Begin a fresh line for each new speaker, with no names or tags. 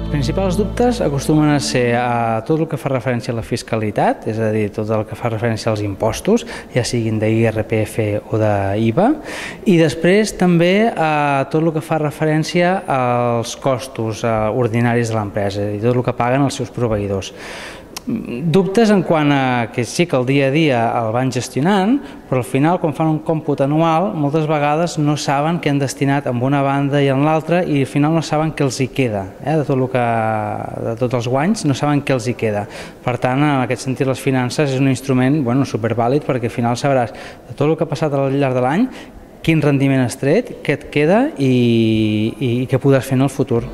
principals dubtes acostumen a ser tot el que fa referència a la fiscalitat, és a dir, tot el que fa referència als impostos, ja siguin d'IRPF o d'IVA, i després també tot el que fa referència als costos ordinaris de l'empresa, és a dir, tot el que paguen els seus proveïdors. Dubtes en quant a que sí que el dia a dia el van gestionant, però al final quan fan un còmput anual moltes vegades no saben què han destinat en una banda i en l'altra i al final no saben què els hi queda, de tots els guanys no saben què els hi queda. Per tant, en aquest sentit les finances és un instrument supervàlid perquè al final sabràs de tot el que ha passat al llarg de l'any, quin rendiment has tret, què et queda i què podràs fer en el futur.